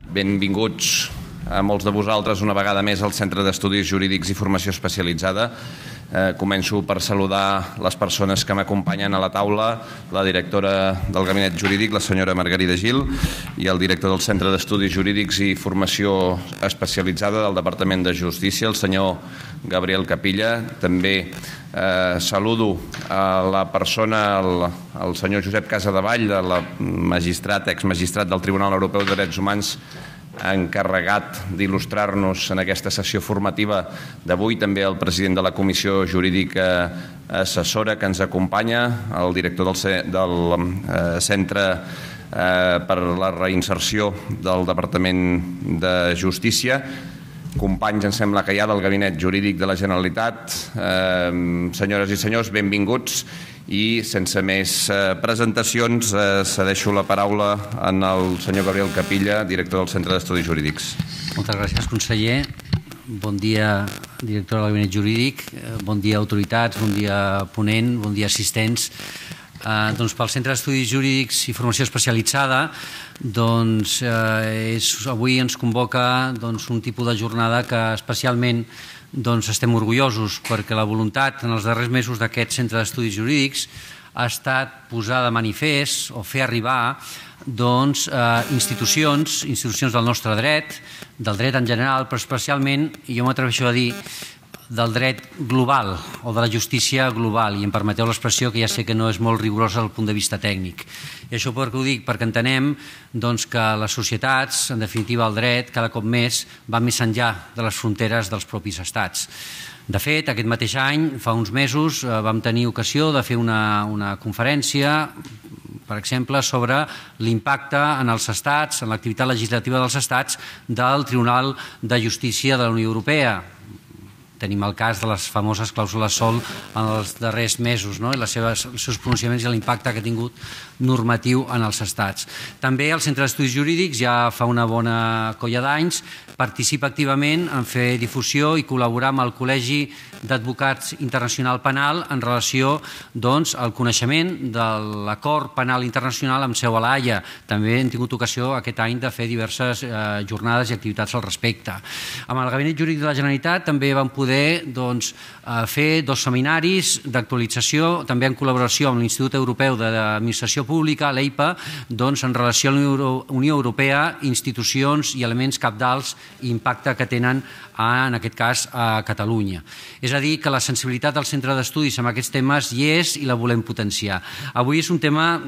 Benvinguts a molts de vosaltres una vegada més al Centre d'Estudis Jurídics i Formació Especialitzada. Començo per saludar les persones que m'acompanyen a la taula, la directora del Gabinet Jurídic, la senyora Margarida Gil, i el director del Centre d'Estudis Jurídics i Formació Especialitzada del Departament de Justícia, el senyor Gabriel Capilla. També saludo a la persona, el senyor Josep Casadevall, exmagistrat del Tribunal Europeu de Drets Humans, encarregat d'il·lustrar-nos en aquesta sessió formativa d'avui. També el president de la Comissió Jurídica Assessora que ens acompanya, el director del Centre per la Reinserció del Departament de Justícia, companys, em sembla que hi ha del Gabinet Jurídic de la Generalitat. Senyores i senyors, benvinguts. I sense més presentacions cedeixo la paraula al senyor Gabriel Capilla, director del Centre d'Estudis Jurídics. Moltes gràcies, conseller. Bon dia, director del Gabinet Jurídic. Bon dia, autoritats. Bon dia, ponent. Bon dia, assistents. Pel Centre d'Estudis Jurídics i Formació Especialitzada, avui ens convoca un tipus de jornada que especialment estem orgullosos, perquè la voluntat en els darrers mesos d'aquest Centre d'Estudis Jurídics ha estat posar de manifest o fer arribar institucions del nostre dret, del dret en general, però especialment, jo m'atreveixo a dir, del dret global o de la justícia global, i em permeteu l'expressió que ja sé que no és molt rigorosa des del punt de vista tècnic. I això per què ho dic? Perquè entenem que les societats, en definitiva el dret, cada cop més va més enllà de les fronteres dels propis estats. De fet, aquest mateix any, fa uns mesos, vam tenir ocasió de fer una conferència, per exemple, sobre l'impacte en els estats, en l'activitat legislativa dels estats del Tribunal de Justícia de la Unió Europea. Tenim el cas de les famoses clàusules sòl en els darrers mesos, i els seus pronunciaments i l'impacte que ha tingut normatiu en els estats. També el Centre d'Estudis Jurídics, ja fa una bona colla d'anys, participa activament en fer difusió i col·laborar amb el Col·legi d'Advocats Internacional Penal en relació al coneixement de l'Acord Penal Internacional amb seu a la Haia. També hem tingut ocasió aquest any de fer diverses jornades i activitats al respecte. Amb el Gabinet Jurídic de la Generalitat també vam poder fer 2 seminaris d'actualització, també en col·laboració amb l'Institut Europeu d'Administració Pública, l'EIPA, en relació a la Unió Europea, institucions i elements cabdals i impacte que tenen, en aquest cas, a Catalunya. És a dir, que la sensibilitat del Centre d'Estudis amb aquests temes hi és i la volem potenciar. Avui és un tema,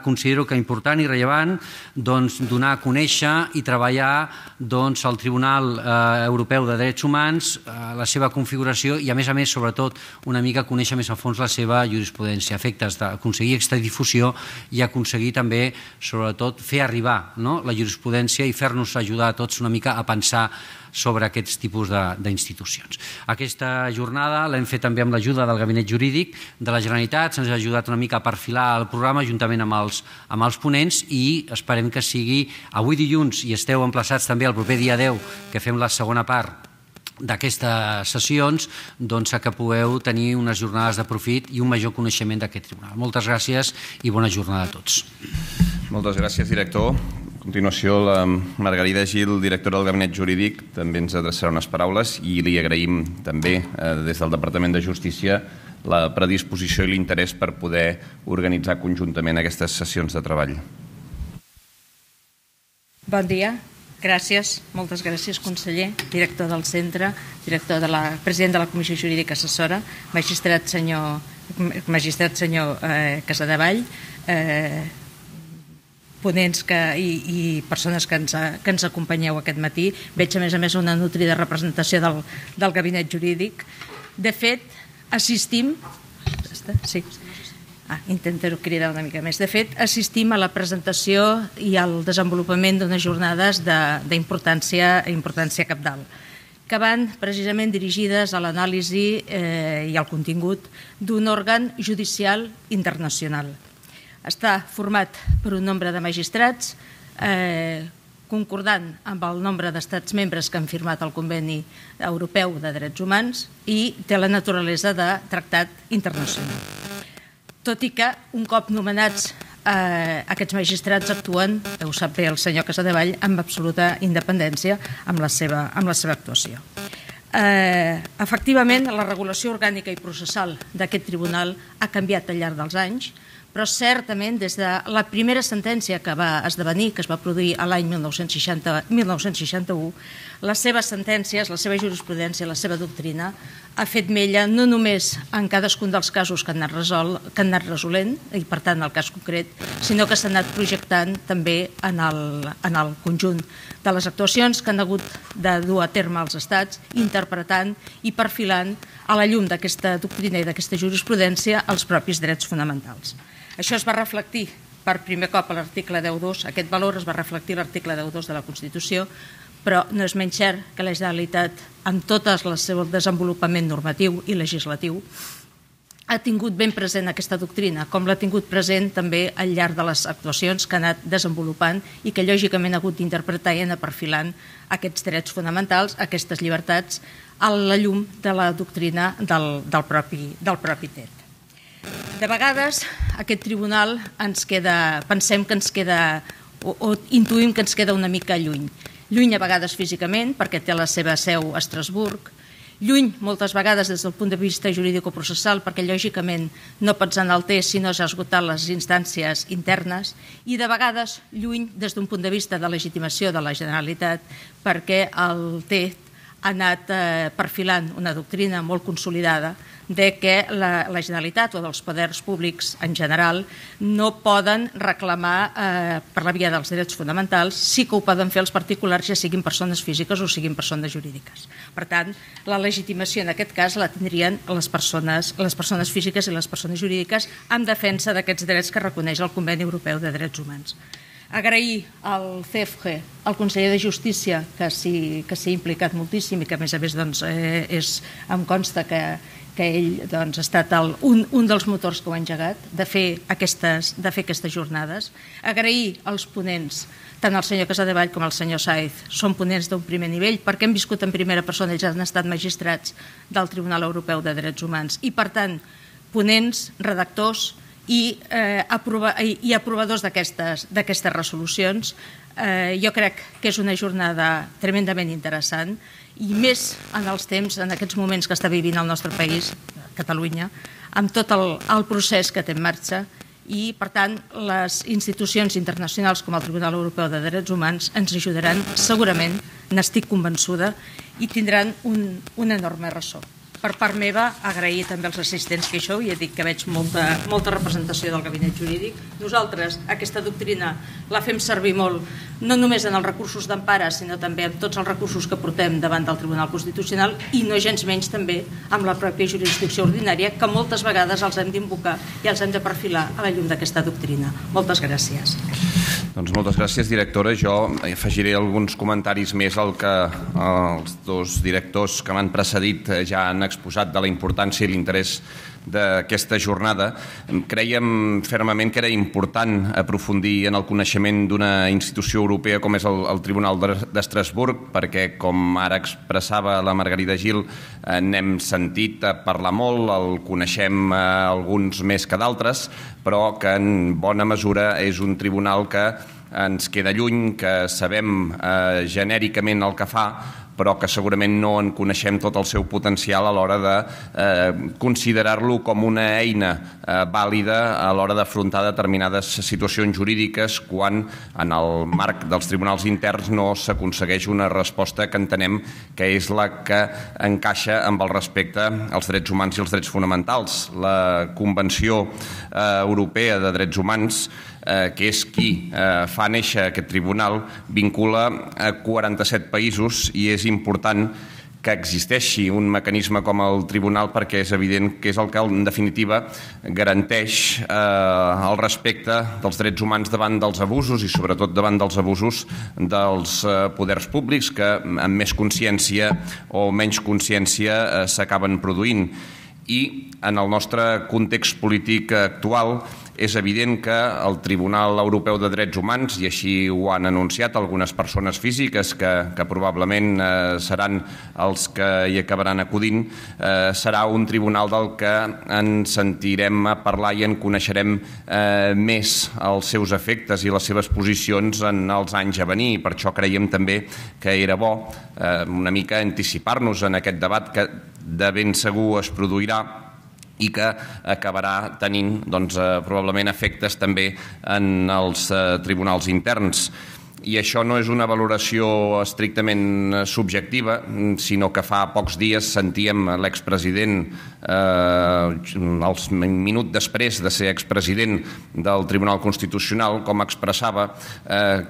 considero que important i rellevant, donar a conèixer i treballar al Tribunal Europeu de Drets Humans, la seva configuració i, a més, sobretot, una mica conèixer més a fons la seva jurisprudència, a efectes d'aconseguir aquesta difusió i aconseguir també, sobretot, fer arribar la jurisprudència i fer-nos ajudar a tots una mica a pensar sobre aquests tipus d'institucions. Aquesta jornada l'hem fet també amb l'ajuda del Gabinet Jurídic de la Generalitat, se'ns ha ajudat una mica a perfilar el programa juntament amb els ponents i esperem que sigui avui dilluns, i esteu emplaçats també el proper dia 10, que fem la segona part d'aquestes sessions, que pugueu tenir unes jornades de profit i un major coneixement d'aquest tribunal. Moltes gràcies i bona jornada a tots. Moltes gràcies, director. A continuació, la Margarida Gil, directora del Gabinet Jurídic, també ens adreçarà unes paraules i li agraïm també des del Departament de Justícia la predisposició i l'interès per poder organitzar conjuntament aquestes sessions de treball. Bon dia. Gràcies, moltes gràcies, conseller, director del centre, president de la Comissió Jurídica Assessora, magistrat senyor Casadevall, ponents i persones que ens acompanyeu aquest matí. Veig, a més, una nutrida representació del Gabinet Jurídic. De fet, assistim... Sí. Intentaré cridar una mica més. De fet, assistim a la presentació i al desenvolupament d'unes jornades d'importància cabdal, que van precisament dirigides a l'anàlisi i al contingut d'un òrgan judicial internacional. Està format per un nombre de magistrats concordant amb el nombre d'estats membres que han firmat el Conveni Europeu de Drets Humans i té la naturalesa de tractat internacional. Tot i que, un cop nomenats aquests magistrats actuen, ho sap bé el senyor Casadevall, amb absoluta independència amb la seva actuació. Efectivament, la regulació orgànica i processal d'aquest tribunal ha canviat al llarg dels anys, però certament des de la primera sentència que va esdevenir, que es va produir l'any 1961, les seves sentències, la seva jurisprudència, la seva doctrina ha fet mella no només en cadascun dels casos que han anat resolent, i per tant el cas concret, sinó que s'ha anat projectant també en el conjunt de les actuacions que han hagut de dur a terme els estats, interpretant i perfilant a la llum d'aquesta doctrina i d'aquesta jurisprudència els propis drets fonamentals. Això es va reflectir per primer cop a l'article 10.2, aquest valor es va reflectir a l'article 10.2 de la Constitució, però no és menys cert que la Generalitat, en tot el seu desenvolupament normatiu i legislatiu, ha tingut ben present aquesta doctrina, com l'ha tingut present també al llarg de les actuacions que ha anat desenvolupant i que lògicament ha hagut d'interpretar i anar perfilant aquests drets fonamentals, aquestes llibertats, a la llum de la doctrina del propi TET. De vegades aquest tribunal pensem que ens queda, o intuïm que ens queda una mica lluny. Lluny a vegades físicament, perquè té la seva seu a Estrasburg, lluny moltes vegades des del punt de vista jurídico-processal, perquè lògicament no pots anar al TES si no s'ha esgotat les instàncies internes, i de vegades lluny des d'un punt de vista de legitimació de la Generalitat, perquè el TET ha anat perfilant una doctrina molt consolidada de que la Generalitat o dels poders públics en general no poden reclamar per la via dels drets fonamentals, sí que ho poden fer els particulars, ja siguin persones físiques o siguin persones jurídiques. Per tant, la legitimació en aquest cas la tindrien les persones físiques i les persones jurídiques en defensa d'aquests drets que reconeix el Conveni Europeu de Drets Humans. Agrair al CEFG, al conseller de Justícia, que s'hi ha implicat moltíssim i que a més em consta que ell ha estat un dels motors que ho ha engegat, de fer aquestes jornades. Agrair als ponents, tant el senyor Casadevall com el senyor Sáez, són ponents d'un primer nivell perquè han viscut en primera persona, ells han estat magistrats del Tribunal Europeu de Drets Humans i, per tant, ponents, redactors i aprovadors d'aquestes resolucions. Jo crec que és una jornada tremendament interessant i més en els temps, en aquests moments que està vivint el nostre país, Catalunya, amb tot el procés que té en marxa i, per tant, les institucions internacionals com el Tribunal Europeu de Drets Humans ens ajudaran segurament, n'estic convençuda, i tindran un enorme ressò. Per part meva, agrair també als assistents que hi sou, i he dit que veig molta representació del gabinet jurídic. Nosaltres aquesta doctrina la fem servir molt, no només en els recursos d'empara, sinó també en tots els recursos que portem davant del Tribunal Constitucional i no gens menys també amb la pròpia jurisdicció ordinària, que moltes vegades els hem d'invocar i els hem de perfilar a la llum d'aquesta doctrina. Moltes gràcies. Doncs moltes gràcies, directora. Jo afegiré alguns comentaris més al que els dos directors que m'han precedit ja han exposat de la importància i l'interès d'aquesta jornada. Crèiem fermament que era important aprofundir en el coneixement d'una institució europea com és el Tribunal d'Estrasburg, perquè, com ara expressava la Margarida Gil, n'hem sentit parlar molt, el coneixem alguns més que d'altres, però que en bona mesura és un tribunal que ens queda lluny, que sabem genèricament el que fa, però que segurament no en coneixem tot el seu potencial a l'hora de considerar-lo com una eina vàlida a l'hora d'afrontar determinades situacions jurídiques quan en el marc dels tribunals interns no s'aconsegueix una resposta que entenem que és la que encaixa amb el respecte als drets humans i els drets fonamentals. La Convenció Europea de Drets Humans, que és qui fa néixer aquest tribunal, vincula a 47 països i és important que existeixi un mecanisme com el tribunal perquè és evident que és el que en definitiva garanteix el respecte dels drets humans davant dels abusos i sobretot davant dels abusos dels poders públics que amb més consciència o menys consciència s'acaben produint. I en el nostre context polític actual és evident que el Tribunal Europeu de Drets Humans, i així ho han anunciat algunes persones físiques que probablement seran els que hi acabaran acudint, serà un tribunal del que ens sentirem a parlar i en coneixerem més els seus efectes i les seves posicions en els anys a venir. Per això creiem també que era bo una mica anticipar-nos en aquest debat que de ben segur es produirà i que acabarà tenint probablement efectes també en els tribunals interns. I això no és una valoració estrictament subjectiva, sinó que fa pocs dies sentíem l'expresident, el minut després de ser expresident del Tribunal Constitucional, com expressava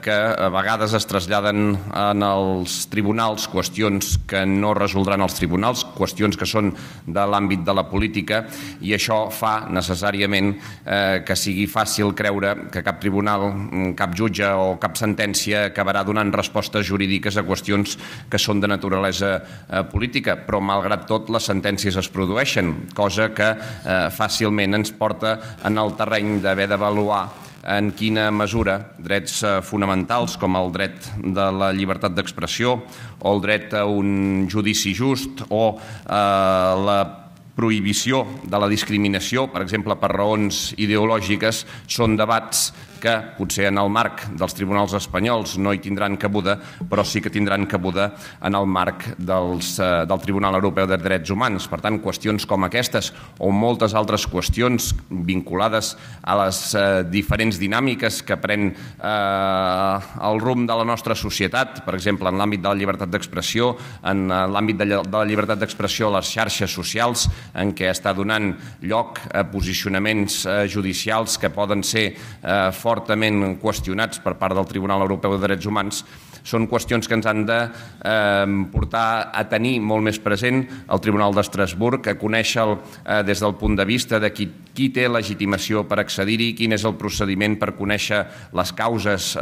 que a vegades es traslladen en els tribunals qüestions que no resoldran els tribunals, qüestions que són de l'àmbit de la política, i això fa necessàriament que sigui fàcil creure que cap tribunal, cap jutge o cap sentència acabarà donant respostes jurídiques a qüestions que són de naturalesa política, però malgrat tot les sentències es produeixen, cosa que fàcilment ens porta en el terreny d'haver d'avaluar en quina mesura drets fonamentals com el dret de la llibertat d'expressió o el dret a un judici just o la prohibició de la discriminació, per exemple, per raons ideològiques, són debats que potser en el marc dels tribunals espanyols no hi tindran cabuda, però sí que tindran cabuda en el marc del Tribunal Europeu de Drets Humans. Per tant, qüestions com aquestes o moltes altres qüestions vinculades a les diferents dinàmiques que pren el rumb de la nostra societat, per exemple, en l'àmbit de la llibertat d'expressió, en l'àmbit de la llibertat d'expressió a les xarxes socials, en què està donant lloc a posicionaments judicials que poden ser fortament qüestionats per part del Tribunal Europeu de Drets Humans, són qüestions que ens han de portar a tenir molt més present el Tribunal d'Estrasburg, a conèixer des del punt de vista de qui té legitimació per accedir-hi, quin és el procediment per conèixer les causes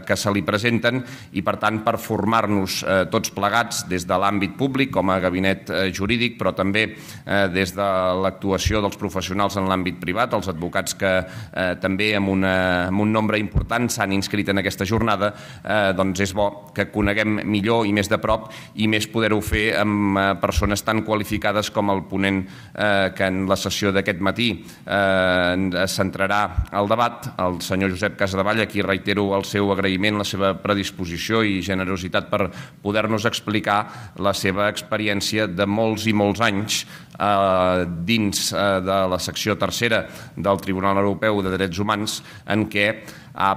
que se li presenten i, per tant, per formar-nos tots plegats des de l'àmbit públic com a gabinet jurídic, però també des de l'actuació dels professionals en l'àmbit privat, els advocats que també amb un nombre important s'han inscrit en aquesta jornada, doncs és bo que coneguem millor i més de prop i més poder-ho fer amb persones tan qualificades com el ponent que en la sessió d'aquest matí centrarà el debat, el senyor Josep Casadevall, a qui reitero el seu agraïment, la seva predisposició i generositat per poder-nos explicar la seva experiència de molts i molts anys dins de la secció tercera del Tribunal Europeu de Drets Humans, en què ha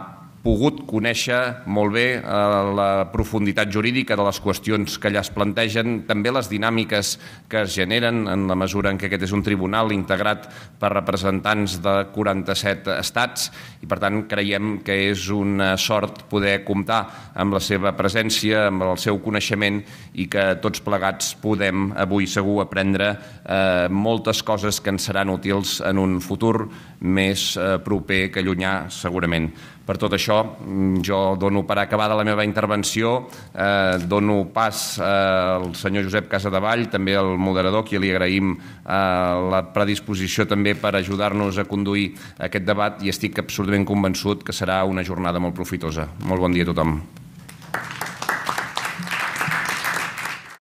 pogut conèixer molt bé la profunditat jurídica de les qüestions que allà es plantegen, també les dinàmiques que es generen en la mesura en què aquest és un tribunal integrat per representants de 47 estats i per tant creiem que és una sort poder comptar amb la seva presència, amb el seu coneixement i que tots plegats podem avui segur aprendre moltes coses que ens seran útils en un futur més proper que llunyà segurament. Per tot això, jo dono per acabada la meva intervenció, dono pas al senyor Josep Casadevall, també al moderador, qui li agraïm la predisposició també per ajudar-nos a conduir aquest debat i estic absolutament convençut que serà una jornada molt profitosa. Molt bon dia a tothom.